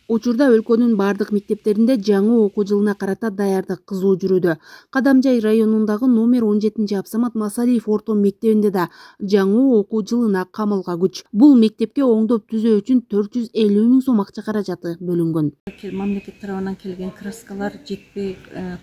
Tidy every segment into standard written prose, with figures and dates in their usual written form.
Учурда өлкөнүн бардык мектептеринде жаңы окуу жылына карата даярдык кызуу жүрүүдө. Кадамжай районундагы номер 17 Масалиев орто мектебинде да жаңы окуу жылына камылга күч. Бул мектепке оңдоп түзөө үчүн 450 000 сом акча каражаты бөлүнгөн. Мамлекет тарабынан келген краскалар жетпей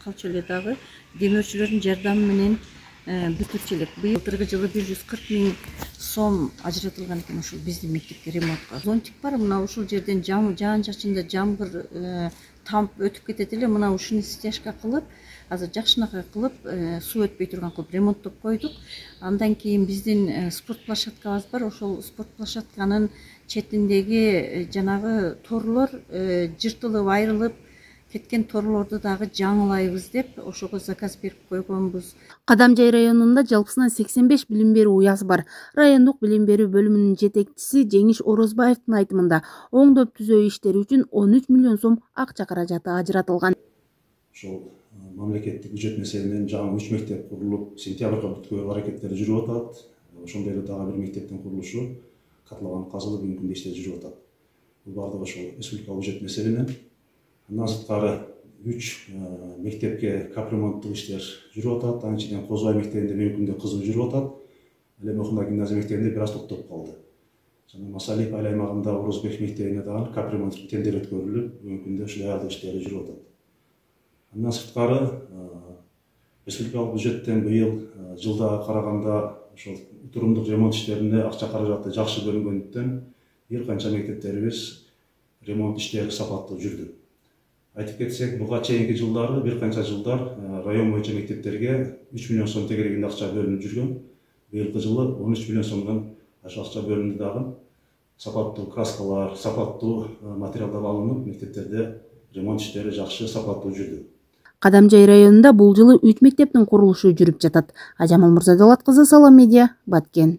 калчу эле дагы демөөрчүлөрдүн жардамы менен бүтүрчү элек. Былтыркы жылы 140 000 сом ажыратылган экен ушул биздин мектепке ремонтко. Зонтик бар, мына ушул жерден жаан чачында жамгыр тамп өтүп кетет эле. Мына ушуну стяжка кылып, азыр жакшынакай кылып, суу өтпөй турган кылып ремонттоп койдук. Андан кийин биздин спорт площадкабыз бар. Ошол спорт площадканын четиндеги жанагы торлор жыртылып, айрылып кеткен торлорду дагы жаңылайбыз деп ошого заказ берип койгонбуз. Кадамжай районунда жалпысынан 85 билим берүү уяз бар. Райондук билим берүү бөлүмүнүн жетекчиси Жеңиш Орозбаевдин айтымында оңдоп түзөө иштери үчүн 13 миллион сом акча каражаты ажыратылган. Ошол мамлекеттик бюджет эсебинен жаңы 3 мектеп курулуп, сентябрга бүткөрүү аракеттери жүрүп атат. Ошондой эле дагы бир мектептин курулушу котлован казылып бүгүнкү күндө иштер жүрүп атат. Бул бардыгы ошол республикалык бюджет эсебинен. Андан сырткары 3 мектепке капремонттук иштер жүрүп атат. Анын ичинен Козубай мектебинде бүгүнкү күндө кызуу жүрүп атат. Эле Мохунда гимназия мектебинде бир аз токтоп калды. Жана Масалиев айыл аймагында Орозбек мектебине дагы капремонт тендер өткөрүлүп, бүгүнкү күндө ушул даярдык иштери жүрүп атат. Андан сырткары республикалык бюджеттен быйыл жылдага караганда ошол утурумдук ремонт иштерине акча каражаты жакшы бөлүнгөндүктөн бир канча мектептерибиз ремонт иштери сапаттуу жүрдү. Айтып кетсек, буга чейинки жылдары бир канча жылдар район боюнча мектептерге 3 миллион сом тегерегинде акча бөлүнүп жүргөн. Быйылкы жылы 13 миллион сомдон акча бөлүндү дагы. Сапаттуу краскалар, сапаттуу материалдар алынып, мектептерде ремонт иштери жакшы, сапаттуу жүрдү. Кадамжай районунда бул жылы 3 мектептин курулушу жүрүп жатат. Ажамал Мырзадолат кызы, Салам медиа, Баткен.